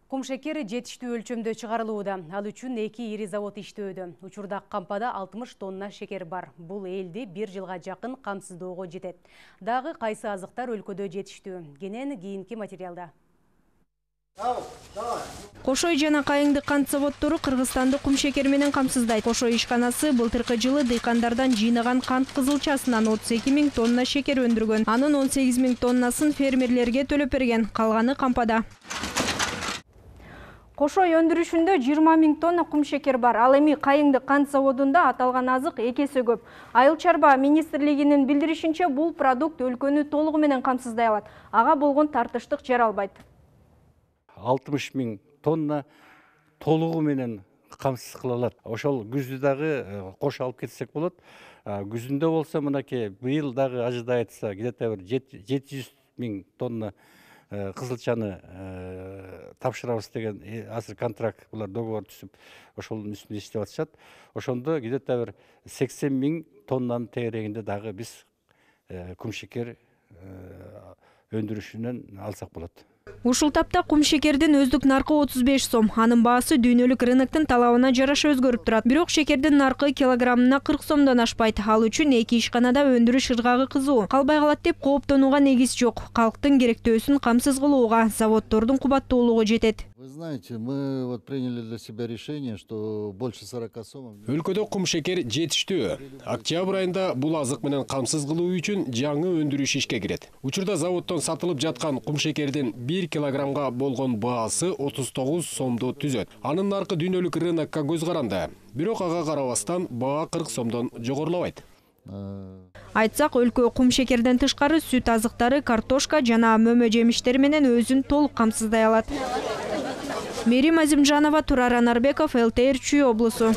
Кум шекер жетиштүү өлчөмдө чыгарылууда. Ал үчүн 2 ири завод иштөөдө. Учурда кампада 60 тонна шекер бар. Бул элди 1 жылга жакын камсыздоого жетет. Дагы кайсы азыктар өлкөдө жетиштүү? Кенен кийинки материалда. Кошой жана Кайыңдык кант заводдору Кыргызстанды кум шекер менен камсыздайт. Кошой ишканасы былтыркы жылы дыйкандардан жыйнаган кант кызылчасынан 32 000 тонна шекер өндүргөн. Анын 18 000 тоннасын фермерлерге төлөп берген, калганы кампада. Кошой өндүрүшүндө 20 000 тонна кум шекер бар. Ал эми Кайыңдык кант заводунда аталган азык 2 эсе көп. Айыл чарба министрлигинин билдиришинче, бул продукт өлкөнү толугу менен камсыздай алат. Ага болгон тартыштык жаралбайт. 60 000 тонна толугу менен камсыз кыла алат. Ошол күздү дагы кош алып кетсек болот. Күзүндө болсо мынакей быйыл дагы ажыдай айтса, где-то 700 000 тонна кызылчаны тапшырабыз деген азыр контракт, булар договор түзүп, ошонун үстүндө иштеп атышат. Ошондо где-то 80 000 тоннанын тегерегинде дагы биз кум шекер өндүрүшүнөн алсак болот. Ушул тапта кум шекердин өздүк наркы 35 сом. Анын баасы дүйнөлүк рыноктун талабына жараша өзгөрүп турат. Бирок шекердин наркы килограммына 40 сомдон ашпайт. Ал үчүн эки ишканада өндүрүш ыргагы кызуу. Калбай калат деп кооптонууга негиз жок. Калктын керектөөсүн камсыз кылууга заводдордун кубаттуулугу жетет. Вы знаете, мы приняли для себя решение, что больше 40 сом. Өлкөдө кум шекер жетиштүү. Октябрь айында бул азык менен камсыз кылуу үчүн жаңы өндүрүш ишке кирет. Учурда заводдон сатылып жаткан кум шекердин 1 килограммга болгон баасы 39 сомду түзөт. Анын наркы дүйнөлүк рынокко көз каранды. Бирок ага карабастан баа 40 сомдон жогорулабайт. Айтсак, өлкө кум шекерден тышкары сүт азыктары, картошка жана мөмө жемиштер менен өзүн толук камсыздай алат. Мерим Азимжанова, Турар Анарбеков, ЛТР Чүй облусу.